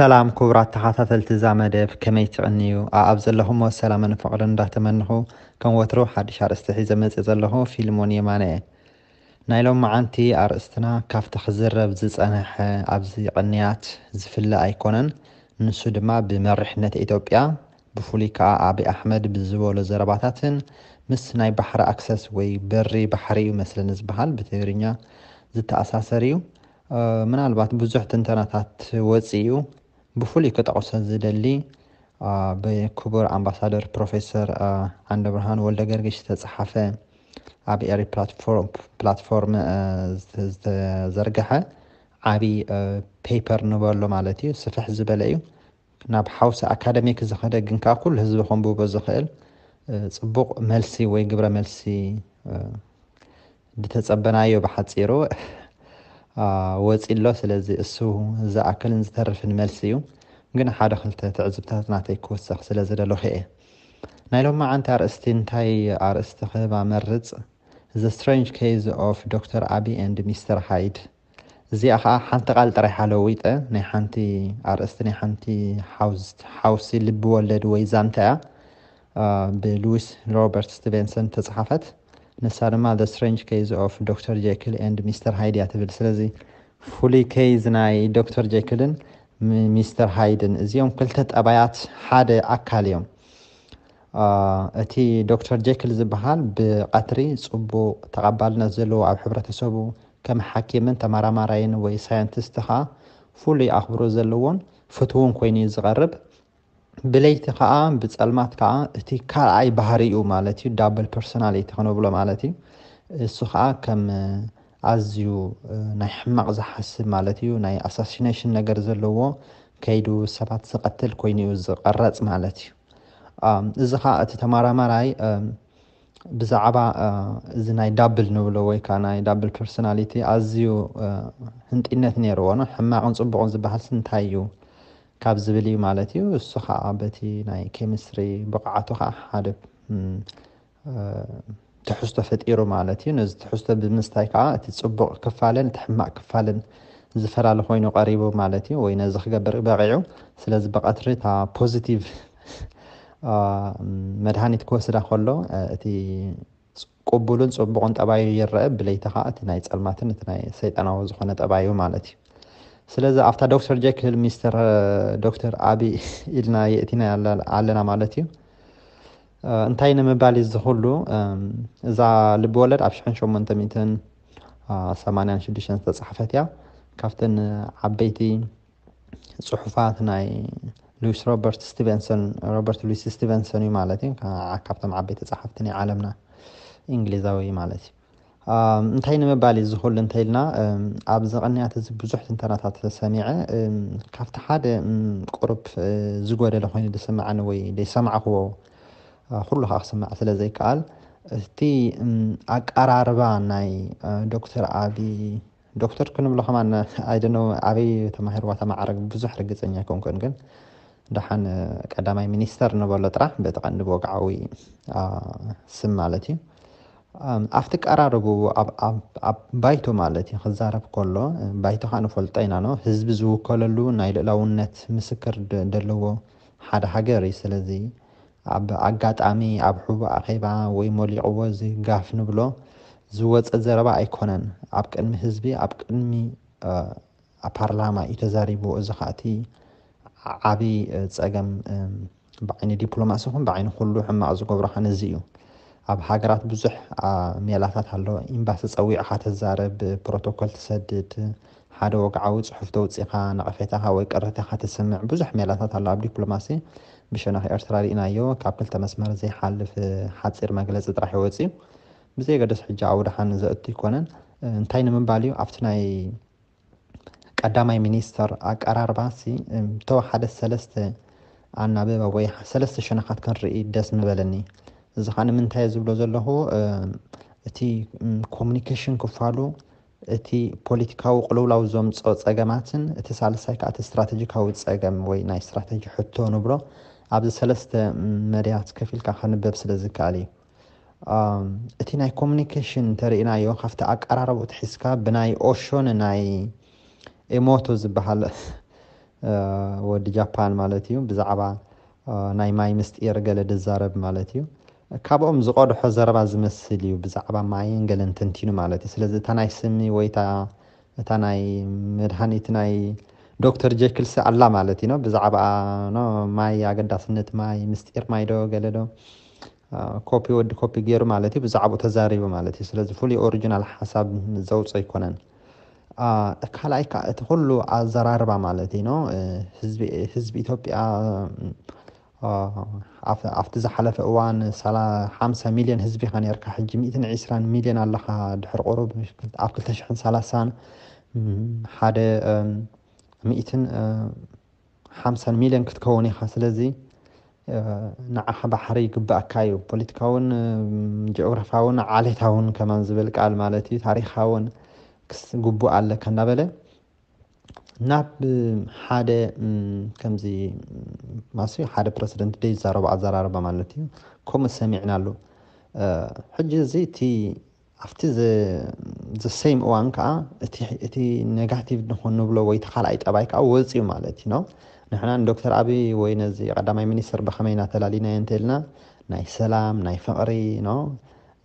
ሰላም ክቡራት ተኸታተልቲ እዛ መደብ፣ ከመይ ትቕንዩ? ኣኣብ ዘለኹሞ ሰላምን ፍቕርን እንዳተመንኹ፣ ከም ወትሩ ሓድሽ ኣርእስቲ ሒዘ መጽእ ዘለኹ ፊልሞን የማነ እየ። ናይ ሎም መዓንቲ ኣርእስትና ካብቲ ክዝረብ ዝጸንሐ ኣብዚ ቅንያት ዝፍለ ኣይኮነን። ንሱ ድማ ብመሪሕነት ኢትዮጵያ፣ ብፍሉይ ከኣ ኣብይ ኣሕመድ ብዝበሎ ዘረባታትን ምስ ናይ ባሕሪ ኣክሰስ ወይ በሪ ባሕሪ እዩ መስለኒ ዝበሃል ብትግርኛ ዝተኣሳሰር እዩ። ምናልባት ብዙሕ ትንተናታት ወፂኡ ብፍሉይ ክጠቕሶ ዝደሊ ብክቡር ኣምባሳደር ፕሮፌሰር ዓንደብርሃን ወልደ ገርግሽ ዝተፅሓፈ ኣብ ኤሪ ፕላትፎርም ዝተዘርገሐ ዓብዪ ፔፐር ንበሎ ማለት እዩ። ስፍሕ ዝበለ እዩ። ናብ ሓውሲ ኣካደሚክ ዝኸደ ግን ከዓ ኩሉ ህዝቢ ከንብቦ ዝኽእል ፅቡቕ መልሲ ወይ ግብረ መልሲ ዝተጸበናዮ ብሓጺሩ ወጺ ኣሎ። ስለዚ እሱ ዝኣክልን ዝተርፍን መልሲ እዩ። ግን ሓደ ክልተ ትዕዝብታት ናተይ ክውሰኽ ስለ ዝደለኹ እየ። ናይ ሎማዓንቲ ኣርእስቲ እንታይ ኣርእስቲ ክህባ መርጽ? The Strange Case of ዶክተር ኣቢ and ሚስተር ሃይድ። እዚኣ ከዓ ሓንቲ ቃል ጥራይ ሓለዊጠ ናይ ሓንቲ ኣርእስቲ ናይ ሓንቲ ሓውስ- ሓውሲ ልቢ ወለድ ወይ ዛንታ እያ። ብሉዊስ ሮበርት ስቲቨንሰን ተፃሓፈት። ንሳ ድማ The Strange Case of ዶክተር ጀይክል and ሚስተር ሃይድ እያ ትብል። ስለዚ ፍሉይ ኬዝ ናይ ዶክተር ጀይክልን ሚስተር ሃይድን እዚኦም ክልተ ጠባያት ሓደ ኣካል እዮም። እቲ ዶክተር ጀይክል ዝበሃል ብቐትሪ ፅቡቕ ተቐባልነት ዘለዎ ኣብ ሕብረተሰቡ ከም ሓኪምን ተመራማራይን ወይ ሳይንቲስት ከዓ ፍሉይ ኣኽብሮ ዘለዎን ፍትውን ኮይኑ እዩ ዝቐርብ። ብለይቲ ከዓ ብፀልማት ከዓ እቲ ካልኣይ ባህሪኡ ማለት እዩ ዳብል ፐርሶናሊቲ ክንብሎ ማለት እዩ። እሱ ከዓ ከም ኣዝዩ ናይ ሕማቕ ዝሓስብ ማለት እዩ ናይ ኣሳሲኔሽን ነገር ዘለዎ ከይዱ ሰባት ዝቐትል ኮይኑ እዩ ዝቐረፅ ማለት እዩ። እዚ ከዓ እቲ ተመራማራይ ብዛዕባ እዚ ናይ ዳብል ንብሎ ወይ ከዓ ናይ ዳብል ፐርሶናሊቲ ኣዝዩ ህንጢነት ነይርዎ ነው። ሕማቕን ፅቡቕን ዝበሃል እንታይ እዩ ካብ ዝብል እዩ ማለት እዩ። እሱ ከዓ በቲ ናይ ኬሚስትሪ ብቕዓቱ ከዓ ሓደ ትሕዝቶ ፈጢሩ ማለት እዩ። ነዚ ትሕዝቶ ብምስታይ ከዓ እቲ ፅቡቕ ክፋልን እቲ ሕማቕ ክፋልን ዝፈላለ ኮይኑ ቀሪቡ ማለት እዩ። ወይ ነዚ ክገብር በቂዑ። ስለዚ ብቐትሪ እታ ፖዚቲቭ መድሃኒት ክወስዳ ከሎ እቲ ቅቡልን ፅቡቕን ጠባዩ ይረአ፣ ብለይቲ ከዓ እቲ ናይ ፀልማትን እቲ ናይ ሰይጣናዊ ዝኾነ ጠባዩ ማለት እዩ። ስለዚ ኣብታ ዶክተር ጀክል ሚስተር ዶክተር ኣቢ ኢልና የእቲና ኣለና ማለት እዩ። እንታይ ንምባል እዩ እዚ ኩሉ? እዛ ልቢ ወለድ ኣብ ሽሕን ሸሞንተ ሚእትን ሰማንያን ሽዱሽተን ዝተፃሓፈት እያ። ካብተን ዓበይቲ ፅሑፋት ናይ ሉዊስ ሮበርት ስቲቨንሰን፣ ሮበርት ሉዊስ ስቲቨንሰን እዩ ማለት እዩ። ካብቶም ዓበይቲ ፀሓፍቲ ናይ ዓለምና እንግሊዛዊ ማለት እዩ። እንታይ ንምባል እዩ ዝኽሉ እንተኢልና ኣብዚ ቅንያት እዚ ብዙሕ ትንተናታት ሰሚዐ ካብቲ ሓደ ቁሩብ ዝጎደለ ኮይኑ ዝስምዓኒ ወይ ዘይሰማዕክዎ ኩሉ ከዓ ክስማዕ ስለ ዘይከኣል እቲ ኣቀራርባ ናይ ዶክተር ኣቢ ዶክተር ክንብሎ ከማን ኣይደኖ ኣበይ ተማሂርዋ ተማዕረግ ብዙሕ ርግፀኛ ኣይኮንኩን ግን ደሓን ቀዳማይ ሚኒስተር ንበሎ ጥራሕ በቲ ቀንዲ ብወግዓዊ ስም ማለት እዩ። ኣብቲ ቀራርቡ ኣብ ባይቶ ማለት እዩ ክዛረብ ከሎ ባይቶ ከዓ ንፈልጦ ኢና ነው ህዝቢ ዝውከለሉ ናይ ልእላውነት ምስክር ደለዎ ሓደ ሃገር እዩ። ስለዚ ኣብ ኣጋጣሚ ኣብ ሕቡእ ኣኼባ ወይ ሞሊቕዎ እዚ ጋፍ ንብሎ ዝወፀ ዘረባ ኣይኮነን። ኣብ ቅድሚ ህዝቢ ኣብ ቅድሚ ኣብ ፓርላማ እዩ ተዛሪቡ። እዚ ከዓ እቲ ዓብዪ ፀገም ብዓይኒ ዲፕሎማሲ ይኹን ብዓይኒ ኩሉ ሕማቕ ዝገብሮ ከዓ ነዚ እዩ። ኣብ ሃገራት ብዙሕ ሜላታት ኣሎ። ኤምባሲ ፀዊዕኻ ተዛረብ፣ ፕሮቶኮል ትሰድድ፣ ሓደ ወግዓዊ ፅሑፍ ተውፂኻ ነቐፌታኻ ወይ ቅሬታኻ ተስምዕ ብዙሕ ሜላታት ኣሎ ኣብ ዲፕሎማሲ። ብሸነኽ ኤርትራ ርኢናዮ ካብ ክልተ መስመር ዘይሓልፍ ሓፂር መግለፂ ጥራሕ ይወፅእ እዩ። ብዘየገደስ ሕጂ ኣብኡ ደሓን ዘእቱ ኣይኮነን። እንታይ ንምባል እዩ ኣብቲ ናይ ቀዳማይ ሚኒስተር ኣቀራርባ ሲ ተወሓደ ሰለስተ ኣናብባ ወይ ሰለስተ ሸነኻት ክንርኢ ደስ ምበለኒ። እዚ ከዓ ንምንታይ ዝብሎ ዘለኹ እቲ ኮሚኒኬሽን ክፋሉ እቲ ፖለቲካዊ ቅልውላው ዘምፅኦ ፀገማትን እቲ ሳልሳይ ከዓ እቲ ስትራቴጂካዊ ፀገም ወይ ናይ ስትራቴጂ ሕቶ ንብሎ ኣብዚ ሰለስተ መድያት ከፊልካ ከንበብ ስለ ዝከኣል እዩ። እቲ ናይ ኮሚኒኬሽን እንተርኢናዮ ካብቲ ኣቀራረቡ ትሒዝካ ብናይ ኦሾ ንናይ ኤሞቶ ዝበሃል ወዲ ጃፓን ማለት እዩ። ብዛዕባ ናይ ማይ ምስጢር ገለ ዝዛረብ ማለት እዩ። ካብኦም ዝቐድሖ ዘረባ ዝመስል እዩ፣ ብዛዕባ ማይን ገለን ተንቲኑ ማለት እዩ። ስለዚ እታ ናይ ስሚ ወይ እታ ናይ መድሃኒት ናይ ዶክተር ጀክልሲ ኣላ ማለት እዩ። ብዛዕባ ማይ፣ ኣገዳስነት ማይ፣ ምስጢር ማይ ዶ ገለ ዶ ኮፒ ወዲ ኮፒ ገይሩ ማለት እዩ፣ ብዛዕባኡ ተዛሪቡ ማለት እዩ። ስለዚ ፍሉይ ኦሪጂናል ሓሳብ ዘውፅእ ኣይኮነን። ካልኣይ ከዓ እቲ ኩሉ ኣዘራርባ ማለት እዩ። ህዝቢ ኢትዮጵያ ኣብቲ ዝሓለፈ እዋን ሓምሳ ሚሊዮን ህዝቢ ኢኻ ነርካ፣ ሕጂ ሚእትን ዕስራን ሚሊዮን ኣለኻ። ድሕሪ ቁሩብ ኣብ ክልተ ሽሕን ሰላሳን ሓደ ሚእትን ሓምሳን ሚሊዮን ክትከውን ኢኻ። ስለዚ ንዓኻ ባሕሪ ይግባእካ እዩ። ፖለቲካውን ጂኦግራፋውን ዓሌታውን ከማን ዝብል ቃል ማለት እዩ፣ ታሪኻውን ግቡእ ኣለካ እንዳበለ ናብ ሓደ ከምዚ ማስ ሓደ ፕረሲደንት ደይ ዝዛረቡ ኣዘራርባ ማለት እዩ። ከምኡ ሰሚዕና ኣሉ። ሕጂ እዚ እቲ ኣብቲ ዘሰይም እዋን ከዓ እቲ ኔጋቲቭ ንኾን ንብሎ ወይ እቲ ካልኣይ ጠባይ ከዓ ወፅዩ ማለት እዩ። ንሕና ንዶክተር ኣብይ ወይ ነዚ ቀዳማይ ሚኒስትር ብኸመይ እናተላሊናዮ እንተልና ናይ ሰላም ናይ ፍቕሪ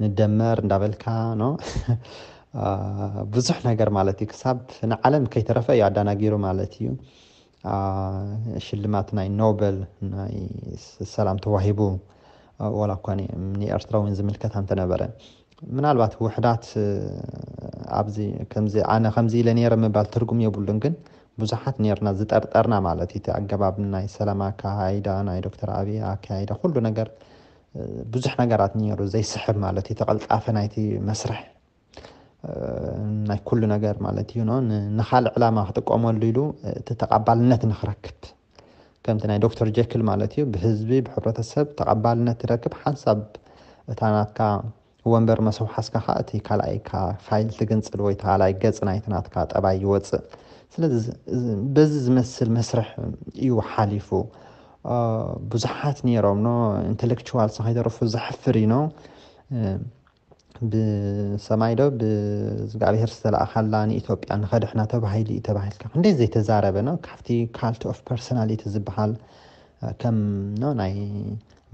ንደመር እንዳበልካ ብዙሕ ነገር ማለት እዩ። ክሳብ ንዓለም ከይተረፈ እዩ ኣዳናጊሩ ማለት እዩ። ሽልማት ናይ ኖበል ናይ ሰላም ተዋሂቡ፣ ዋላ እኳ ንኤርትራ እውን ዝምልከት እንተነበረ፣ ምናልባት ውሕዳት ኣብዚ ከምዚ ኣነ ከምዚ ኢለ ነይረ ምባል ትርጉም የብሉን። ግን ብዙሓት ነርና ዝጠርጠርና ማለት እዩ። እቲ ኣገባብ ናይ ሰላም ኣካይዳ ናይ ዶክተር ኣብይ ኣካይዳ ኩሉ ነገር ብዙሕ ነገራት ነይሩ ዘይስሕብ ማለት እዩ። ተቐልጣፈ ናይቲ መስርሕ ናይ ኩሉ ነገር ማለት እዩ። ንካልእ ዕላማ ክጥቀመሉ ኢሉ እቲ ተቐባልነት ንክረክብ ከምቲ ናይ ዶክተር ጀክል ማለት እዩ። ብህዝቢ ብሕብረተሰብ ተቐባልነት ትረክብ ሓንሳብ እታ ናትካ ወንበር መሰውሓስካ ከዓ እቲ ካልኣይካ ፋይል ትግንፅል ወይ ካልኣይ ገፅ ናይቲ ናትካ ጠባይ ይወፅእ። ስለዚ በዚ ዝመስል መስርሕ እዩ ሓሊፉ። ብዙሓት ነይሮም ኖ ኢንቴሌክቹዋል ከይተረፉ ዘሕፍር እዩ ኖ ብሰማይ ዶ ብእግዚኣብሔር ዝተለኣኻላ ንኢትዮጵያ ንኸድሕና ተባሂሉ እዩ ተባሂልካ ክንደይ ዘይተዛረበ ነው። ካብቲ ካልት ኦፍ ፐርሶናሊቲ ዝበሃል ከም ናይ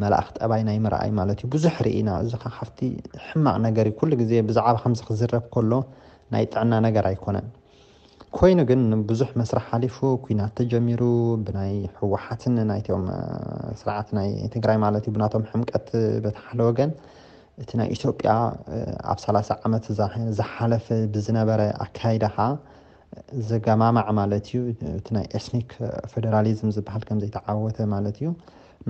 መላእኽ ጠባይ ናይ ምርኣይ ማለት እዩ። ብዙሕ ርኢና እዚ ካብቲ ሕማቕ ነገር እዩ። ኩሉ ግዜ ብዛዕባ ከምዚ ክዝረብ ከሎ ናይ ጥዕና ነገር ኣይኮነን። ኮይኑ ግን ብዙሕ መስርሕ ሓሊፉ ኩናት ተጀሚሩ ብናይ ህወሓትን ናይቶም ስርዓት ናይ ትግራይ ማለት እዩ ብናቶም ሕምቀት በቲ ሓደ ወገን እቲ ናይ ኢትዮጵያ ኣብ ሰላሳ ዓመት ዝሓለፈ ብዝነበረ ኣካይዳ ከዓ ዘገማማዕ ማለት እዩ። እቲ ናይ ኤትኒክ ፌደራሊዝም ዝበሃል ከም ዘይተዓወተ ማለት እዩ።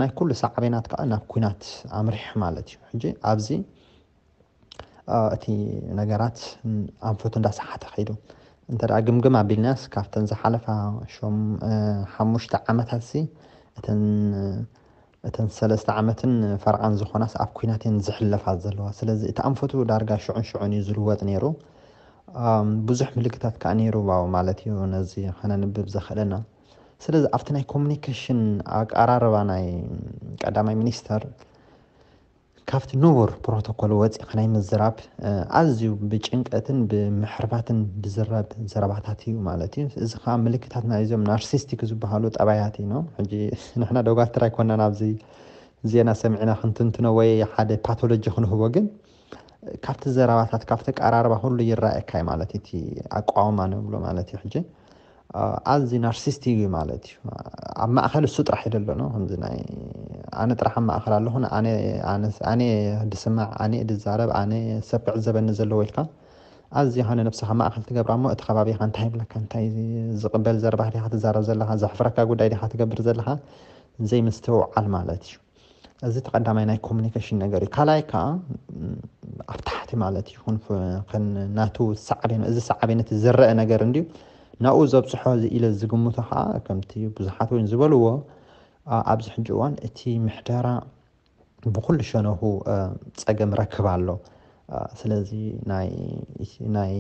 ናይ ኩሉ ሳዕቤናት ከዓ ናብ ኩናት ኣምሪሑ ማለት እዩ። ሕጂ ኣብዚ እቲ ነገራት ኣንፈቱ እንዳሰሓተ ከይዱ እንተ ግምግም ኣቢልናስ ካብተን ዝሓለፋ ሓሙሽተ ዓመታት ሲ እተን እተን ሰለስተ ዓመትን ፈርቓን ዝኾናስ ኣብ ኩናት እየን ዝሕለፋ ዘለዋ። ስለዚ እቲ ኣንፈቱ ዳርጋ ሽዑን ሽዑን እዩ ዝልወጥ ነይሩ። ብዙሕ ምልክታት ከዓ ነይሩ ማለት እዩ ነዚ ከነንብብ ዘኽእለና። ስለዚ ኣብቲ ናይ ኮሚኒኬሽን ኣቀራርባ ናይ ቀዳማይ ሚኒስተር ካብቲ ንቡር ፕሮቶኮል ወፂእኻ ናይ ምዝራብ ኣዝዩ ብጭንቀትን ብምሕርባትን ዝዝረብ ዘረባታት እዩ ማለት እዩ። እዚ ከዓ ምልክታት ናይዞም ናርሲስቲክ ዝበሃሉ ጠባያት እዩ። ሕጂ ንሕና ዶጋትር ኣይኮናን ኣብዚ ዜና ሰሚዕና ክንትንትኖ ወይ ሓደ ፓቶሎጂ ክንህቦ፣ ግን ካብቲ ዘረባታት ካብቲ ቀራርባ ኩሉ ይረኣየካ እዩ ማለት እቲ ኣቋውማ ንብሎ ማለት እዩ። ሕጂ ኣዚ ናርሲስቲ እዩ ማለት እዩ። ኣብ ማእኸል እሱ ጥራሕ ይደሎ ነው ከምዚ ናይ ኣነ ጥራሕ ኣብ ማእኸል ኣለኹ ኣነ ድስማዕ ኣነ ድዛረብ ኣነ ሰብ ክዕዘበኒ ዘለዎ ኢልካ ኣዚ ኸነ ነብስኻ ማእኸል ትገብራ እሞ እቲ ከባቢኻ እንታይ ይብለካ እንታይ ዝቕበል ዘረባ ዲኻ ትዛረብ ዘለኻ ዘሕፍረካ ጉዳይ ዲኻ ትገብር ዘለኻ ዘይምስትውዓል ማለት እዩ። እዚ ተቐዳማይ ናይ ኮሚኒኬሽን ነገር እዩ። ካልኣይ ከዓ ኣብ ታሕቲ ማለት እዩ ናቱ ሳዕቤን እዚ ሳዕቤን እቲ ዝረአ ነገር እንድዩ ናብኡ ዘብፅሖ ኢለ ዝግምቶ ከዓ ከምቲ ብዙሓት እውን ዝበልዎ ኣብዚ ሕጂ እዋን እቲ ምሕደራ ብኩሉ ሸነኹ ፀገም ረክብ ኣሎ። ስለዚ ናይ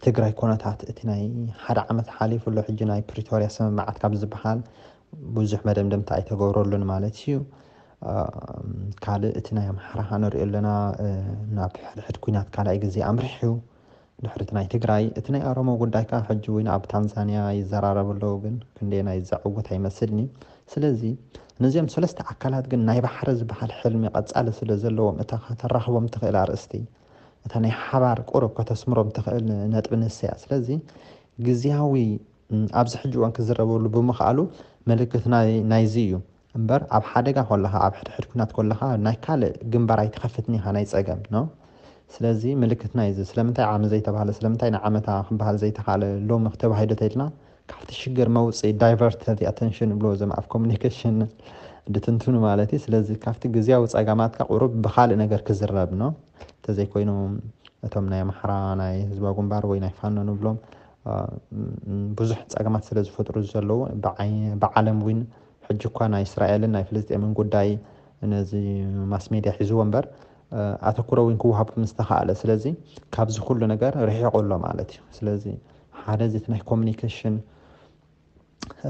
ትግራይ ኮነታት እቲ ናይ ሓደ ዓመት ሓሊፉ ኣሎ ሕጂ ናይ ፕሪቶርያ ስምምዓት ካብ ዝበሃል ብዙሕ መደምደምታ ኣይተገብረሉን ማለት እዩ። ካልእ እቲ ናይ ኣምሓራ ንሪኦ ኣለና ናብ ሕድሕድ ኩናት ካልኣይ ግዜ ኣምሪሑ እዩ። ድሕሪት ናይ ትግራይ፣ እቲ ናይ ኦሮሞ ጉዳይ ከዓ ሕጂ እውን ኣብ ታንዛንያ ይዘራረቡ ኣለዉ፣ ግን ክንደየናይ ዘዕውት ኣይመስልኒ። ስለዚ ነዚኦም ሰለስተ ኣካላት ግን ናይ ባሕሪ ዝበሃል ሕልሚ ቀጻሊ ስለ ዘለዎም፣ እታ ከተራኽቦም ትኽእል ኣርእስቲ፣ እታ ናይ ሓባር ቁሩብ ከተስምሮም ትኽእል ነጥቢ ንሰያ። ስለዚ ግዝያዊ፣ እም፣ ኣብዚ ሕጂ እዋን ክዝረበሉ ብምኽኣሉ ምልክት ናይ-፣ ናይዚ እዩ። እምበር ኣብ ሓደጋ ከለኻ፣ ኣብ ሕድሕድ ኩናት ከለኻ ናይ ካልእ ግንባር ኣይትኸፍትን ኢኻ ናይ ጸገም፣ ኖ? ስለዚ ምልክት ናይዚ ስለምንታይ ዓሚ ዘይተባህለ፣ ስለምንታይ ንዓመታ ክበሃል ዘይተኻለ፣ ሎሚ ተባሂሉ ተይልና ካብቲ ሽግር መውፅኢ፣ ዳይቨርት the attention ብሎ ዘም ኣብ ኮሚኒኬሽን ድትንትኑ ማለት እዩ። ስለዚ ካብቲ ግዝያዊ ጸገማትካ ቁሩብ ብኻልእ ነገር ክዝረብ፣ ኖ? እንተዘይኮይኑ እቶም ናይ ኣምሓራ ናይ ህዝባዊ ግንባር ወይ ናይ ፋኖ ንብሎም፣ አ፣ ም-፣ ብዙሕ ጸገማት ስለ ዝፈጥሩ ዘለዉ፣ ብዓይ-፣ ብዓለም እውን ሕጂ እኳ ናይ እስራኤልን ናይ ፍልስጤምን ጉዳይ ነዚ ማስ ሜድያ ሒዝዎ እምበር፣ አ፣ ኣተኩሮ እውን ክወሃብ ምስ ተኻእለ። ስለዚ ካብዚ ኩሉ ነገር ርሒቑ ኣሎ ማለት እዩ። ስለዚ ሓደ እዚ እቲ ናይ ኮሚኒኬሽን፣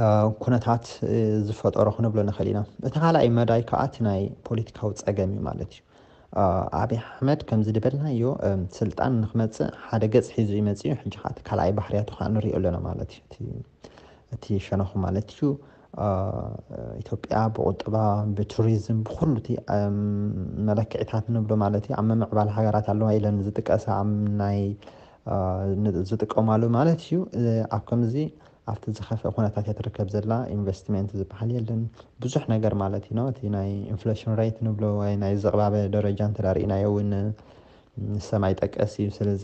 አ፣ ኩነታት፣ እ፣ ዝፈጠሮ ክንብሎ ንኽእል ኢና። እቲ ካልኣይ መዳይ ከዓ እቲ ናይ ፖለቲካዊ ጸገም እዩ ማለት እዩ። አ፣ ኣብይ ኣሕመድ ከምዚ ዝበልናዮ፣ እም፣ ስልጣን ንክመጽእ ሓደ ገጽ ሒዙ እዩ መጺኡ። ሕጂ ከዓ እቲ ካልኣይ ባህርያቱ ከዓ ንሪኦ ኣለና ማለት እዩ። እቲ፣ እቲ ሸነኹ ማለት እዩ። አ፣ ኢትዮጵያ ብቁጠባ፣ ብቱሪዝም፣ ብኩሉ እቲ፣ እም፣ መለክዒታት ንብሎ ማለት እዩ፣ ኣብ ምምዕባል ሃገራት ኣለዋ ኢለን ዝጥቀሳ፣ ኣብ ናይ፣ አ፣ ን-፣ ዝጥቀማሉ ማለት እዩ። እ፣ ኣብ ከምዚ ኣብቲ ዝኸፍአ ኩነታት እያ ትርከብ ዘላ። ኢንቨስትመንት ዝበሃል የለን፣ ብዙሕ ነገር ማለት እዩ። እቲ ናይ ኢንፍሌሽን ሬት ንብሎ ወይ ናይ ዝቕባበ ደረጃ እንተ ርኢናዮ እውን ሰማይ ጠቀስ እዩ። ስለዚ፣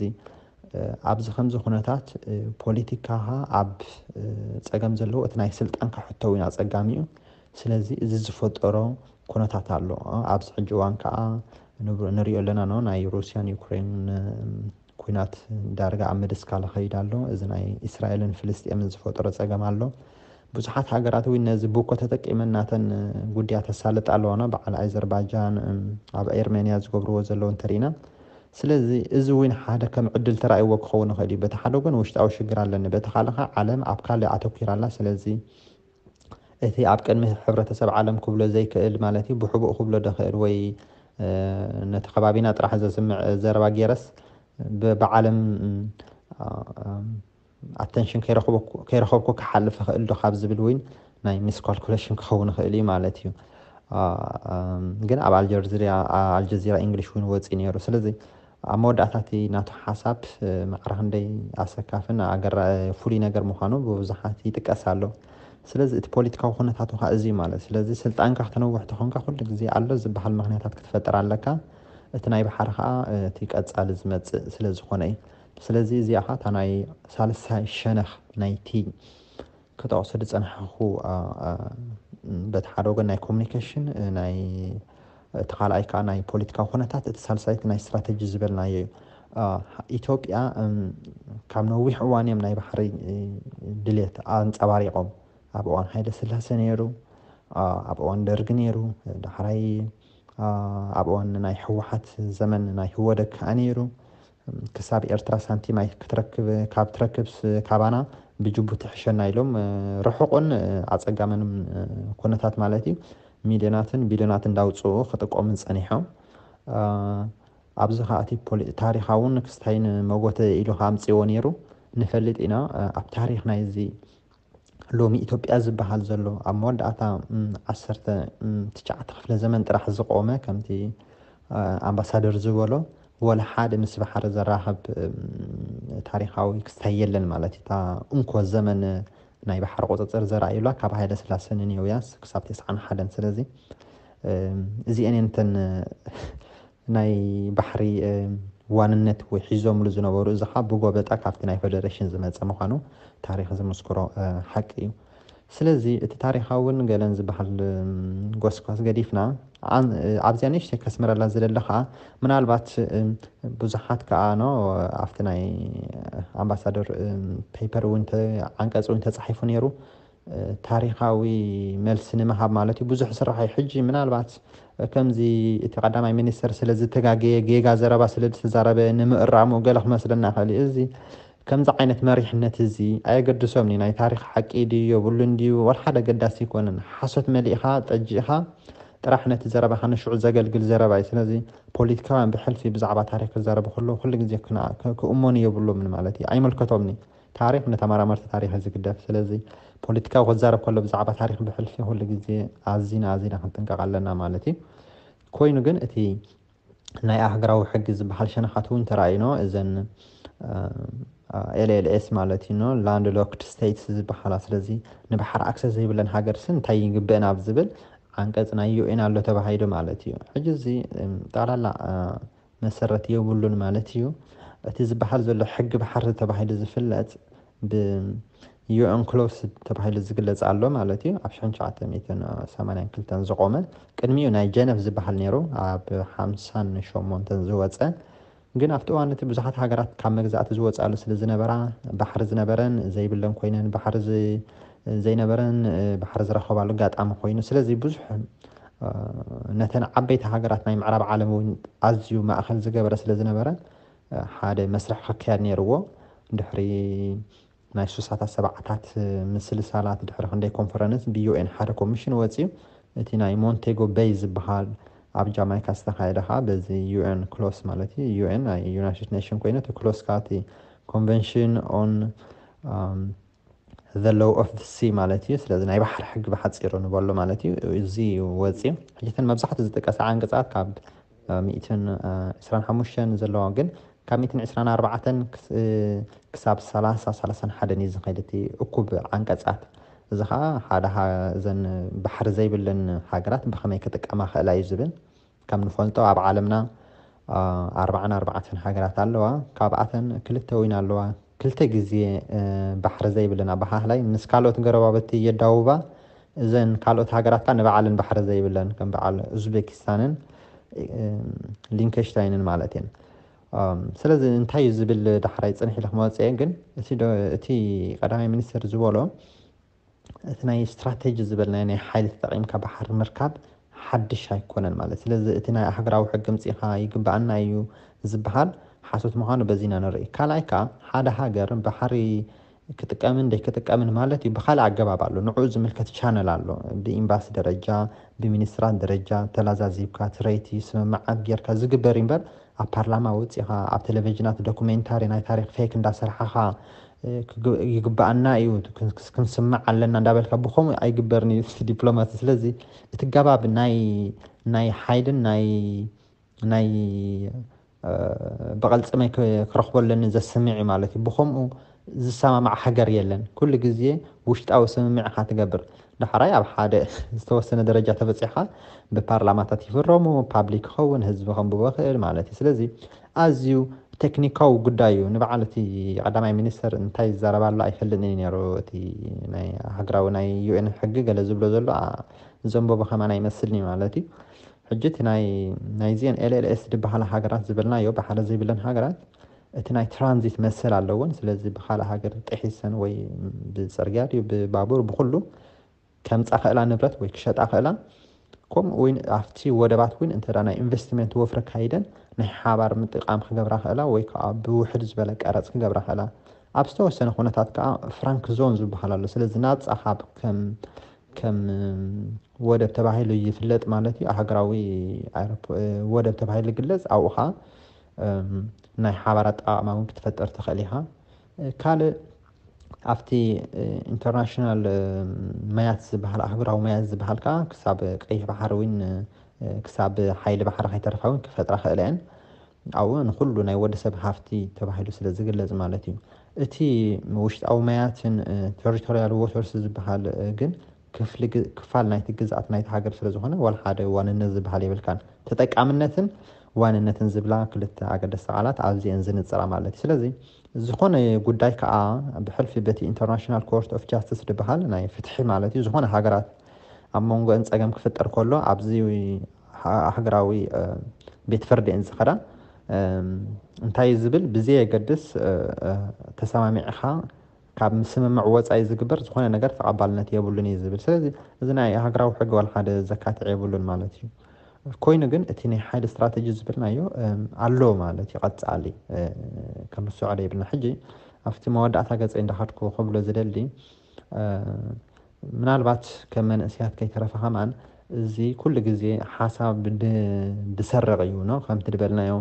እ፣ ኣብዚ ከምዚ ኩነታት፣ እ፣ ፖለቲካኻ ኣብ፣ እ፣ ጸገም ዘለዎ እቲ ናይ ስልጣንካ ሕቶ እውን ኣጸጋሚ እዩ። ስለዚ እዚ ዝፈጠሮ ኩነታት ኣሎ። ኣብዚ ሕጂ እዋን ከዓ ንብ-፣ ንሪኦ ኣለና፣ ኖ፣ ናይ ሩስያን ዩክሬን፣ እ፣ ኩናት ዳርጋ ኣብ ምድስካል ከይድ ኣሎ። እዚ ናይ እስራኤልን ፍልስጤምን ዝፈጠሮ ጸገም ኣሎ። ብዙሓት ሃገራት እውን ነዚ ብኮ ተጠቂመን ናተን ጉድያት ተሳልጥ ኣለዋ፣ ኖ፣ በዓል ኣዘርባይጃን፣ እም፣ ኣብ ኤርሜንያ ዝገብርዎ ዘለዉ እንተሪኢና። ስለዚ እዚ እውን ሓደ ከም ዕድል ተራእይዎ ክኸውን ይኽእል እዩ። በቲ ሓደ ወገን ውሽጣዊ ሽግር ኣለኒ፣ በቲ ካልእ ከዓ ዓለም ኣብ ካልእ ኣተኲራ ኣላ። ስለዚ እቲ ኣብ ቅድሚ ሕብረተሰብ ዓለም ክብሎ ዘይክእል ማለት እዩ፣ ብሕቡእ ክብሎ ደኽእል ወይ፣ እ፣ ነቲ ከባቢና ጥራሕ ዘስምዕ ዘረባ ገይረስ ብ-፣ ብዓለም፣ እ፣ እ፣ ኣተንሽን ከይረኽበኩ-፣ ከይረኸብኩ ክሓልፍ እኽእል ዶ ካብ ዝብል እውን ናይ ሚስኳልኩሌሽን ክኸውን ይኽእል እዩ ማለት እዩ። እ፣ እ፣ ግን ኣብ ኣልጀዚራ፣ ኣልጀዚራ ኢንግሊሽ እውን ወፂኡ ነይሩ። ስለዚ ኣብ መወዳእታ እቲ ናቱ ሓሳብ፣ እ፣ ማዕረ ክንደይ ኣሰካፍን ኣገራ-፣ ፍሉይ ነገር ምዃኑ ብብዙሓት ይጥቀስ ኣሎ። ስለዚ እቲ ፖለቲካዊ ኩነታቱ ኸኣ እዚ እዩ ማለት። ስለዚ ስልጣንካ ክተነውሕ ተኾንካ ኩሉ ግዜ ኣሎ ዝበሃል ምኽንያታት ክትፈጥር ኣለካ። እቲ ናይ ባሕሪ ኸኣ፣ እ፣ እቲ ቀጻሊ ዝመጽእ ስለ ዝኾነ እዩ። ስለዚ እዚኣ ኸኣ እታ ናይ ሳልሳይ ሸነኽ ናይቲ ክጠቕሶ ዝጸናሕኩ፣ አ፣ አ፣ በቲ ሓደ ወገን ናይ ኮሚኒኬሽን፣ እ፣ ናይ፣ እቲ ካልኣይ ከኣ ናይ ፖለቲካዊ ኩነታት፣ እቲ ሳልሳይ እቲ ናይ ስትራተጂ ዝበልናዮ እዩ። አ፣ ኢትዮጵያ፣ እም፣ ካብ ነዊሕ እዋን እዮም ናይ ባሕሪ፣ እ፣ ድሌት ኣንጸባሪቖም። ኣብ እዋን ሃይለ ስላሴ ነይሩ፣ አ፣ ኣብ እዋን ደርጊ ነይሩ፣ ዳሕራይ፣ አ፣ ኣብ እዋን ናይ ህወሓት ዘመን ናይ ህወደግ ከኣ ነይሩ። ክሳብ ኤርትራ ሳንቲም ኣይ-፣ ክትረክብ፣ ካብ ትረክብስ ካባና ብጅቡቲ ሕሸና ኢሎም፣ እ፣ ርሑቕን፣ እ፣ ኣጸጋምን፣ እ፣ ኩነታት ማለት እዩ፣ ሚልዮናትን ቢልዮናትን እንዳውጽኡ ክጥቀሙን ጸኒሖም። እ፣ ኣብዚ ኸኣ እቲ ፖሊ-፣ ታሪኻውን ክስታይን መጎተ ኢሉ ከኣ ኣምጽእዎ ነይሩ። ንፈልጥ ኢና፣ እ፣ ኣብ ታሪኽ ናይዚ ሎሚ ኢትዮጵያ ዝበሃል ዘሎ ኣብ መወዳእታ፣ እም፣ ዓሰርተ፣ እም፣ ትሽዓተ ክፍለ ዘመን ጥራሕ ዝቆመ፣ ከምቲ፣ እ፣ ኣምባሳደር ዝበሎ፣ ወላ ሓደ ምስ ባሕሪ ዘራኽብ፣ እም፣ ታሪኻዊ ክስታይ የለን ማለት እዩ። እታ እንኮ ዘመን ናይ ባሕሪ ቁጽጽር ዘርኣዩላ ካብ ሃይለ ስላሴ ንኔውያስ ክሳብ ተስዓን ሓደን። ስለዚ፣ እም፣ እዚአን እየን እተን ናይ ባሕሪ፣ እ፣ ዋንነት ወይ ሒዞምሉ ዝነበሩ፣ እዚ ኸኣ ብጎበጣ ካብቲ ናይ ፌደሬሽን ዝመጸ ምዃኑ ታሪኽ ዝምስክሮ፣ እ፣ ሓቂ እዩ። ስለዚ እቲ ታሪኻውን ገለን ዝበሃል፣ እ፣ ጎስጓስ ገዲፍና፣ ኣን-፣ እ፣ ኣብዚኣ ንእሽተይ ከስምረላ ዝደሊ ኸኣ፣ ምናልባት፣ እ፣ ብዙሓት ከኣ ኖ ኣብቲ ናይ ኣምባሳደር፣ እ፣ ፔፐር እውን ተ-፣ ዓንቀጽ እውን ተጻሒፉ ነይሩ። ታሪኻዊ መልሲ ንምሃብ ማለት እዩ። ብዙሕ ስራሕ እዩ። ሕጂ ምናልባት ከምዚ እቲ ቀዳማይ ሚኒስተር ስለ ዝተጋገየ፣ ጌጋ ዘረባ ስለ ዝተዛረበ ንምእራሙ ገለ ክመስለና ይኽእል እዩ። እዚ ከምዚ ዓይነት መሪሕነት እዚ ኣየገድሶምን እዩ። ናይ ታሪኽ ሓቂ ድዩ የብሉን ድዩ፣ ወላ ሓደ ኣገዳሲ ኣይኮነን። ሓሶት መሊእኻ፣ ጠጂእኻ፣ ጥራሕ ነቲ ዘረባኻ ንሽዑ ዘገልግል ዘረባ እዩ። ስለዚ ፖለቲካውያን ብሕልፊ ብዛዕባ ታሪኽ ክዛረቡ ከለዉ ኩሉ ግዜ ክና- ክ- ክእመኑ የብሎምን ማለት እዩ። ኣይምልከቶምን እዩ። ታሪኽ ንተመራመርቲ ታሪኽ እዩ ዝግደፍ። ስለዚ ፖለቲካዊ ክዛረብ ከሎ ብዛዕባ ታሪኽ ብሕልፊ ኩሉ ግዜ ኣዚና ኣዚና ክንጥንቀቕ ኣለና ማለት እዩ። ኮይኑ ግን እቲ ናይ ኣህግራዊ ሕጊ ዝበሃል ሸነኻት እውን ተራእዩኖ እዘን ኤልኤልኤስ ማለት እዩ፣ ላንድ ሎክድ ስቴትስ ዝበሃላ። ስለዚ ንባሕር ኣክሰስ ዘይብለን ሃገር ስ እንታይ ይግበእን ኣብ ዝብል ዓንቀፅ ናይ ዩኤን ኣሎ ተባሂሉ ማለት እዩ። ሕጂ እዚ ጠቕላላ መሰረት የብሉን ማለት እዩ። እቲ ዝበሃል ዘሎ ሕጊ ባሕሪ ተባሂሉ ዝፍለጥ ብ ዩኤን ክሎስ ተባሂሉ ዝግለጽ ኣሎ ማለት እዩ። ኣብ ሽሕን ትሽዓተ ሚእትን ሰማንያን ክልተን ዝቆመ፣ ቅድሚኡ ናይ ጀነቭ ዝበሃል ነይሩ፣ ኣብ ሓምሳን ሸሞንተን ዝወጸ። ግን ኣብቲ እዋን እቲ ብዙሓት ሃገራት ካብ መግዛእቲ ዝወጻሉ ስለ ዝነበራ፣ ባሕሪ ዝነበረን ዘይብለን ኮይነን፣ ባሕሪ ዝ- ዘይነበረን ባሕሪ ዝረኸባሉ ኣጋጣሚ ኮይኑ፣ ስለዚ ብዙሕ ነተን ዓበይቲ ሃገራት ናይ ምዕራብ ዓለም እውን ኣዝዩ ማእኸል ዝገበረ ስለ ዝነበረ ሓደ መስርሕ ክካየድ ነይርዎ። ድሕሪ ናይ ሱሳታት ሰብዓታት ምስልሳላት ድሕሪ ክንደይ ኮንፈረንስ ብዩኤን ሓደ ኮሚሽን ወፅዩ። እቲ ናይ ሞንቴጎ ቤይ ዝበሃል ኣብ ጃማይካ ዝተኻየደ ከዓ በዚ ዩኤን ክሎስ ማለት እዩ፣ ዩኤን ናይ ዩናይትድ ኔሽን ኮይኑ እቲ ክሎስ ከዓ እቲ ኮንቨንሽን ኦን the law of the sea ማለት እዩ። ስለዚ ናይ ባሕሪ ሕጊ ብሓፂሩ ንበሎ ማለት እዩ። እዚ ወፂ ሕጅትን መብዛሕትኡ ዝጥቀሰ ዓንቀፃት ካብ ሚእትን ዕስራን ሓሙሽተን ዘለዋ ግን ካብ ሚእትን ዕስራን ኣርባዕተን ክሳብ ሰላሳ ሰላሳን ሓደን እዩ ዝኸይድ እቲ እኩብ ዓንቀፃት። እዚ ከዓ ሓደ እዘን ባሕሪ ዘይብለን ሃገራት ብኸመይ ክጥቀማ ክእላ እዩ ዝብል። ከም ንፈልጦ ኣብ ዓለምና ኣርባዓን ኣርባዕተን ሃገራት ኣለዋ። ካብኣተን ክልተ ወይን ኣለዋ ክልተ ግዜ ባሕሪ ዘይብለን ኣባሃህላይ ምስ ካልኦት ገረባበቲ የዳውባ። እዘን ካልኦት ሃገራት ከዓ ንባዕለን ባሕሪ ዘይብለን ከም በዓል ኡዝቤኪስታንን ሊንከሽታይንን ማለት እየን። ስለዚ እንታይ እዩ ዝብል ዳሕራይ ፅንሕ ኢለ ክመፅአ ግን እቲ ቀዳማይ ሚኒስትር ዝበሎ እቲ ናይ ስትራቴጂ ዝበልናዮ ናይ ሓይሊ ተጠቒምካ ባሕሪ ምርካብ ሓድሽ ኣይኮነን ማለት። ስለዚ እቲ ናይ ኣህግራዊ ሕጊ ምፅኢኻ ይግባኣና እዩ ዝበሃል ሓሶት ምዃኑ በዚና ንርኢ። ካልኣይ ከዓ ሓደ ሃገር ባሕሪ ክጥቀምን ደይክጥቀምን ማለት እዩ ብካልእ ኣገባብ ኣሎ። ንዕኡ ዝምልከት ቻነል ኣሎ። ብኤምባሲ ደረጃ፣ ብሚኒስትራት ደረጃ ተላዛዚብካ ትረይቲ ስምምዓት ጌርካ ዝግበር እዩ እምበር ኣብ ፓርላማ ወፂኻ ኣብ ቴሌቪዥናት ዶኩሜንታሪ ናይ ታሪክ ፌክ እንዳሰርሓኻ ይግባኣና እዩ ክንስምዕ ኣለና እንዳበልካ ብከምኡ ኣይግበርን እዩ ዲፕሎማሲ። ስለዚ እቲ ገባብ ናይ ናይ ሓይልን ናይ ናይ ብቐልፅመይ ክረኽቦ ኣለኒ ዘስምዕ እዩ ማለት እዩ። ብከምኡ ዝሰማማዕ ሃገር የለን። ኩሉ ግዜ ውሽጣዊ ስምምዕ ኢኻ ትገብር። ዳሕራይ ኣብ ሓደ ዝተወሰነ ደረጃ ተበፂሕካ ብፓርላማታት ይፍረሙ፣ ፓብሊክ ክኸውን፣ ህዝቢ ከንብቦ ይኽእል ማለት እዩ። ስለዚ ኣዝዩ ቴክኒካዊ ጉዳይ እዩ። ንበዓል እቲ ቀዳማይ ሚኒስተር እንታይ ይዛረብ ኣሎ ኣይፈልጥን እዩ ነይሩ። እቲ ናይ ሃገራዊ ናይ ዩኤን ሕጊ ገለ ዝብሎ ዘሎ ዘንበቦ ከማን ኣይመስልን እዩ ማለት እዩ። ሕጂ እቲ ናይ ናይዚአን ኤልኤልኤስ ዝበሃላ ሃገራት ዝበልናዮ ባሕሪ ዘይብለን ሃገራት እቲ ናይ ትራንዚት መሰል ኣለወን። ስለዚ ብካልእ ሃገር ጥሒሰን ወይ ብፅርግያ ድዩ ብባቡር ብኩሉ ከምፃ ክእላ ንብረት ወይ ክሸጣ ክእላ ከምኡ እውን ኣብቲ ወደባት እውን እንተ ናይ ኢንቨስትመንት ወፍሪ ካይደን ናይ ሓባር ምጥቃም ክገብራ ክእላ ወይ ከዓ ብውሕድ ዝበለ ቀረፅ ክገብራ ክእላ ኣብ ዝተወሰነ ኩነታት ከዓ ፍራንክ ዞን ዝበሃል ኣሎ። ስለዚ ናፃ ካብ ከም ከም ወደብ ተባሂሉ ይፍለጥ ማለት እዩ። ኣህግራዊ ወደብ ተባሂሉ ይግለፅ። ኣብኡ ከዓ ናይ ሓባር ኣጠቃቅማ እውን ክትፈጥር ትኽእል ኢኻ። ካልእ ኣብቲ ኢንተርናሽናል መያት ዝበሃል ኣህጉራዊ መያት ዝበሃል ከዓ ክሳብ ቀይሕ ባሕሪ እውን ክሳብ ሓይሊ ባሕሪ ከይተርፋ እውን ክፈጥራ ክእለ እየን። ኣብኡ ንኩሉ ናይ ወዲ ሰብ ሃፍቲ ተባሂሉ ስለ ዝግለጽ ማለት እዩ። እቲ ውሽጣዊ መያትን ቴሪቶሪያል ዎተርስ ዝበሃል ግን ክፋል ናይቲ ግዝኣት ናይቲ ሃገር ስለ ዝኾነ ዋላ ሓደ ዋንነት ዝበሃል የብልካን። ተጠቃምነትን ዋንነትን ዝብላ ክልተ ኣገደስቲ ቃላት ኣብዚአን ዝንጽራ ማለት እዩ። ስለዚ ዝኾነ ጉዳይ ከዓ ብሕልፊ በቲ ኢንተርናሽናል ኮርት ኦፍ ጃስቲስ ዝበሃል ናይ ፍትሒ ማለት እዩ ዝኾነ ሃገራት ኣብ መንጎአን ጸገም ክፍጠር ከሎ ኣብዚ ሃገራዊ ቤት ፍርዲ እየን ዝኸዳ። እንታይ ዝብል ብዘየገድስ ተሰማሚዕኻ ካብ ስምምዕ ወፃኢ ዝግበር ዝኾነ ነገር ተቐባልነት የብሉን እዩ ዝብል። ስለዚ እዚ ናይ ሃገራዊ ሕጊ ዋላ ሓደ ዘካትዕ የብሉን ማለት እዩ። ኮይኑ ግን እቲ ናይ ሓይሊ ስትራተጂ ዝብልናዮ ኣሎ ማለት እዩ። ቀፃሊ ክንስዖ ዶ ይብልና። ሕጂ ኣብቲ መወዳእታ ገፀይ እንዳኸድኩ ክብሎ ዝደሊ ምናልባት ከም መንእሰያት ከይተረፈ ከማን እዚ ኩሉ ግዜ ሓሳብ ድሰርቕ እዩ ነው ከምቲ ዝበልናዮ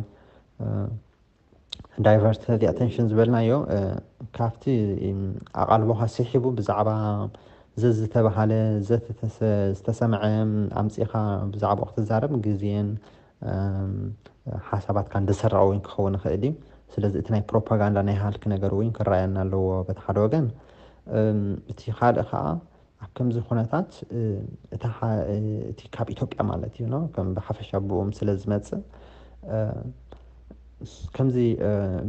diversity attention ዝበልናዮ ካብቲ ኣቓልቦኻ ስሒቡ ብዛዕባ ዘዝተባሃለ ዘተተሰ- ዝተሰምዐ ኣምፂኻ ብዛዕባኡ ክትዛረብ ግዜን ሓሳባትካ እንደሰረቐ እውን ክኸውን ይኽእል እዩ። ስለዚ እቲ ናይ ፕሮፓጋንዳ ናይ ሃልክ ነገር እውን ክረኣየና ኣለዎ በቲ ሓደ ወገን። እቲ ካልእ ከዓ ኣብ ከምዚ ኩነታት እታ እቲ ካብ ኢትዮጵያ ማለት እዩ ከም ብሓፈሻ ብኡም ስለ ዝመፅእ ከምዚ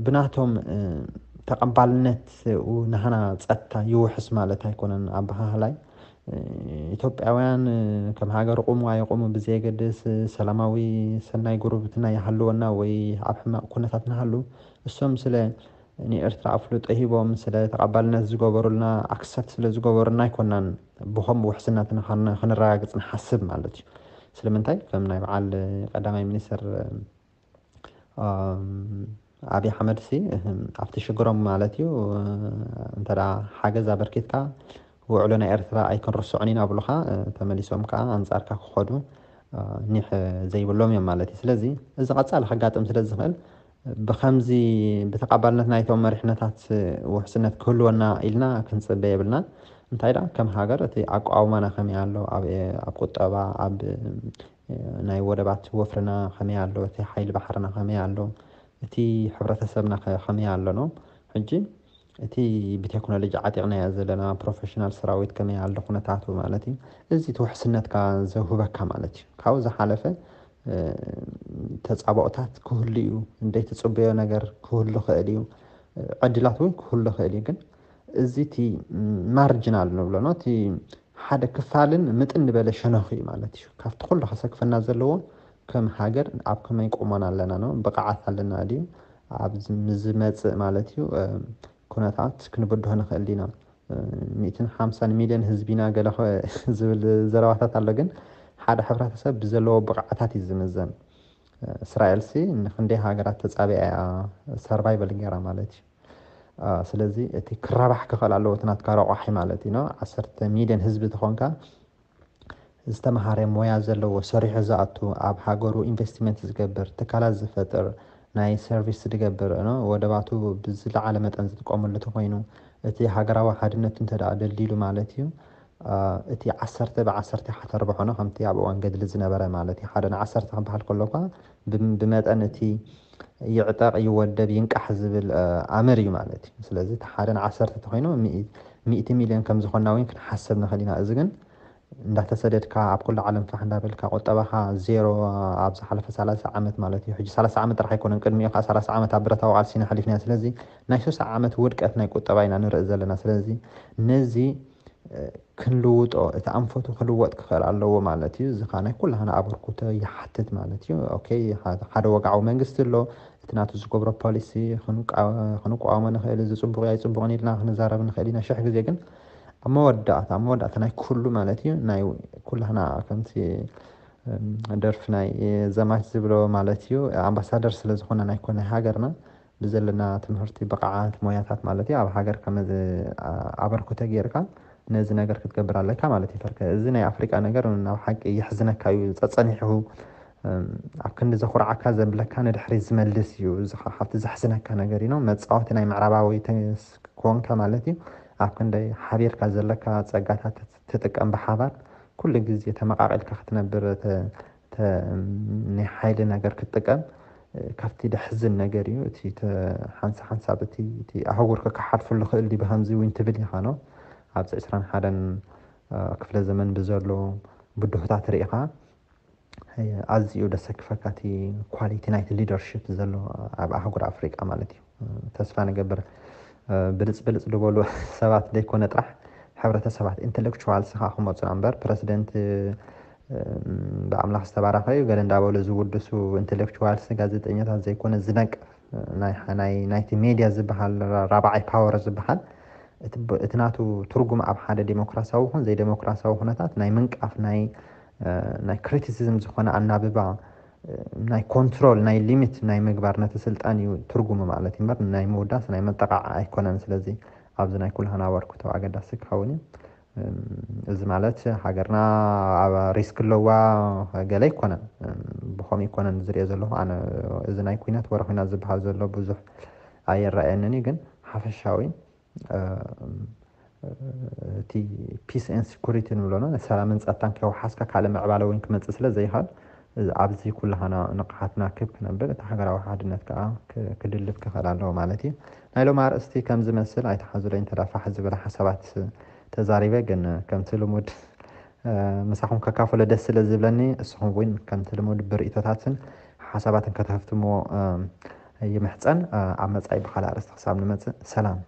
ብናቶም ተቐባልነት ናህና ፀጥታ ይውሕስ ማለት ኣይኮነን። ኣበሃህላይ ኢትዮጵያውያን ከም ሃገር ቁሙ ኣይቁሙ ብዘየገድስ ሰላማዊ ሰናይ ጉርብትና ይሃልወና ወይ ኣብ ሕማቕ ኩነታት ንሃሉ እሶም ስለ ንኤርትራ ኣፍልጦ ሂቦም ስለ ተቐባልነት ዝገበሩልና ኣክሰፕት ስለ ዝገበሩልና ኣይኮናን ብኸም ውሕስነትና ክንረጋግፅ ንሓስብ ማለት እዩ። ስለምንታይ ከም ናይ በዓል ቀዳማይ ሚኒስትር ኣብይ ኣሕመድ ሲ ኣብቲ ሽግሮም ማለት እዩ እንተ ሓገዝ ኣበርኪትካ ውዕሎ ናይ ኤርትራ ኣይክንርስዖን ኢና ብሉካ ተመሊሶም ከዓ ኣንፃርካ ክኸዱ ኒሕ ዘይብሎም እዮም ማለት እዩ። ስለዚ እዚ ቀፃሊ ከጋጥም ስለ ዝኽእል ብከምዚ ብተቐባልነት ናይቶም መሪሕነታት ውሕስነት ክህልወና ኢልና ክንፅበ የብልና። እንታይ ደኣ ከም ሃገር እቲ ኣቋውማና ከመይ ኣሎ፣ ኣብ ቁጠባ፣ ኣብ ናይ ወደባት ወፍርና ከመይ ኣሎ፣ እቲ ሓይሊ ባሕርና ከመይ ኣሎ፣ እቲ ሕብረተሰብና ከመይ ኣሎ ነው ሕጂ እቲ ብቴክኖሎጂ ዓጢቕናዮ ዘለና ፕሮፌሽናል ሰራዊት ከመይ ኣሎ ኩነታቱ ማለት እዩ። እዚ እቲ ውሕስነትካ ዘውህበካ ማለት እዩ። ካብኡ ዝሓለፈ ተፃባኦታት ክህሉ እዩ፣ እንደይ ትፅበዮ ነገር ክህሉ ክእል እዩ፣ ዕድላት እውን ክህሉ ክእል እዩ። ግን እዚ እቲ ማርጅናል ንብሎ ነው እቲ ሓደ ክፋልን ምጥን ዝበለ ሸነኹ እዩ ማለት እዩ። ካብቲ ኩሉ ከሰክፈና ዘለዎ ከም ሃገር ኣብ ከመይ ቁመና ኣለና ነው ብቕዓት ኣለና ድዩ ኣብ ዝመፅእ ማለት እዩ ኩነታት ክንብድሆ ንኽእል ዲና። ሚእትን ሓምሳን ሚልዮን ህዝቢና ገለ ዝብል ዘረባታት ኣሎ። ግን ሓደ ሕብረተሰብ ብዘለዎ ብቕዓታት እዩ ዝምዘን። እስራኤልሲ ንክንደይ ሃገራት ተፃቢያ እያ ሰርቫይቨል ገይራ ማለት እዩ። ስለዚ እቲ ክረባሕ ክኽእል ኣለዎ እቲ ናትካ ረቋሒ ማለት እዩ። ዓሰርተ ሚልዮን ህዝቢ ተኾንካ ዝተምሃረ ሞያ ዘለዎ ሰሪሑ ዝኣቱ ኣብ ሃገሩ ኢንቨስትመንት ዝገብር ትካላት ዝፈጥር ናይ ሰርቪስ ዝገብር ወደባቱ ብዝለዓለ መጠን ዝጥቀመሉ ተኮይኑ እቲ ሃገራዊ ሓድነቱ እንተ ደኣ ደልዲሉ ማለት እዩ እቲ ዓሰርተ ብዓሰርተ ኢኻ ተርብሖ ነው ከምቲ ኣብ እዋን ገድሊ ዝነበረ ማለት እዩ ሓደ ንዓሰርተ ክበሃል ከሎ እኳ ብመጠን እቲ ይዕጠቕ ይወደብ ይንቃሕ ዝብል ኣምር እዩ ማለት እዩ። ስለዚ እቲ ሓደ ንዓሰርተ ተኮይኑ ሚእቲ ሚልዮን ከም ዝኾንና እውን ክንሓስብ ንኽእል ኢና። እዚ ግን እንዳተሰደድካ ኣብ ኩሉ ዓለም ፋሕ እንዳበልካ ቁጠባኻ ዜሮ ኣብ ዝሓለፈ ሰላሳ ዓመት ማለት እዩ። ሕጂ ሰላሳ ዓመት ጥራሕ ኣይኮነን ቅድሚኡ ከዓ ሰላሳ ዓመት ኣብ ብረታዊ ቃልሲ ኢና ሓሊፍና። ስለዚ ናይ ሱሳ ዓመት ውድቀት ናይ ቁጠባ ኢና ንርኢ ዘለና። ስለዚ ነዚ ክንልውጦ እቲ ኣንፈቱ ክልወጥ ክኽእል ኣለዎ ማለት እዩ። እዚ ከዓ ናይ ኩላህና ኣበርኩቶ ይሓትት ማለት እዩ። ኦኬ ሓደ ወግዓዊ መንግስቲ ኣሎ። እቲ ናቱ ዝገብሮ ፖሊሲ ክንቃወሞ ንኽእል እዚ ፅቡቕ ኣይፅቡቕን ኢልና ክንዛረብ ንኽእል ኢና። ሽሕ ግዜ ግን ኣብ መወዳእታ ኣብ መወዳእታ ናይ ኩሉ ማለት እዩ ናይ ኩላህና ከምቲ ደርፊ ናይ ዘማች ዝብሎ ማለት እዩ ኣምባሳደር ስለ ዝኾነ ናይ ኮነ ሃገርና ብዘለና ትምህርቲ ብቕዓት ሞያታት ማለት እዩ ኣብ ሃገር ከመ ኣበርኩተ ጌርካ ነዚ ነገር ክትገብር ኣለካ ማለት እዩ። ፈርከ እዚ ናይ ኣፍሪቃ ነገር ናብ ሓቂ የሕዝነካ እዩ ጸጸኒሑ ኣብ ክንዲ ዘኹርዓካ ዘብለካ ንድሕሪ ዝመልስ እዩ። እዚ ካብቲ ዘሕዝነካ ነገር እዩ መጻወቲ ናይ ምዕራባዊ ኮንካ ማለት እዩ። ኣብ ክንደይ ሓቢርካ ዘለካ ጸጋታት ትጥቀም ብሓባር ኩሉ ግዜ ተመቃቂልካ ክትነብር ናይ ሓይሊ ነገር ክትጥቀም ካብቲ ደሕዝን ነገር እዩ። እቲ ሓንሳ ሓንሳብ እቲ ኣህጉር ክከሓልፉ ዝኽእል ዲ ብከምዚ እውን ትብል ኢኻ ነው ኣብዚ ዕስራን ሓደን ክፍለ ዘመን ብዘሎ ብድሆታት ርኢኻ ኣዝዩ ደሰክፈካ እቲ ኳሊቲ ናይቲ ሊደርሽፕ ዘሎ ኣብ ኣህጉር ኣፍሪቃ ማለት እዩ። ተስፋ ንገብር ብልፅ ብልፅ ዝበሉ ሰባት ዘይኮነ ጥራሕ ሕብረተሰባት ኢንተሌክቹዋልስ ከዓ ክመፁና እምበር ፕረዚደንት ብኣምላኽ ዝተባረኸ እዩ ገለ እንዳበሉ ዝውድሱ ኢንተሌክቹዋልስ ጋዜጠኛታት ዘይኮነ ዝነቅፍ ናይቲ ሜድያ ዝበሃል ራብዓይ ፓወር ዝበሃል እቲ ናቱ ትርጉም ኣብ ሓደ ዴሞክራሲያዊ ይኹን ዘይዴሞክራሲያዊ ኩነታት ናይ ምንቃፍ ናይ ናይ ክሪቲሲዝም ዝኾነ ኣናብባ ናይ ኮንትሮል ናይ ሊሚት ናይ ምግባር ነቲ ስልጣን እዩ ትርጉሙ ማለት እዩ እምበር ናይ ምውዳስ ናይ መጠቃዕ ኣይኮነን። ስለዚ ኣብዚ ናይ ኩልሃና ኣበርክቶ ኣገዳሲ ክኸውን እዩ። እዚ ማለት ሃገርና ኣብ ሪስክ ኣለዋ ገለ ኣይኮነን። ብኸምኡ ኣይኮነን ዝሪኦ ዘለኹ ኣነ። እዚ ናይ ኩናት ወረ ኩናት ዝበሃል ዘሎ ብዙሕ ኣይረኣየንን እዩ፣ ግን ሓፈሻዊ እቲ peace and security ንብሎ ሰላምን ፀጥታን ከይወሓስካ ካልእ ምዕባለ እውን ክመፅእ ስለ ዘይኽእል ኣብዚ ኩላህና ንቕሓትና ክብ ክነብል እቲ ሃገራዊ ሓድነት ከዓ ክድልት ክኽእል ኣለዎ ማለት እዩ። ናይ ሎም ኣርእስቲ ከም ዝመስል ኣይተሓዙለይ እንተዳ ፋሕ ዝበለ ሓሳባት ተዛሪበ፣ ግን ከምቲ ልሙድ ምሳኹም ከካፍሎ ደስ ስለ ዝብለኒ እስኹም እውን ከምቲ ልሙድ ብርእቶታትን ሓሳባትን ከተህፍትምዎ ይምሕፀን። ኣብ መፃኢ ብካልእ ኣርእስቲ ክሳብ ንመፅእ ሰላም።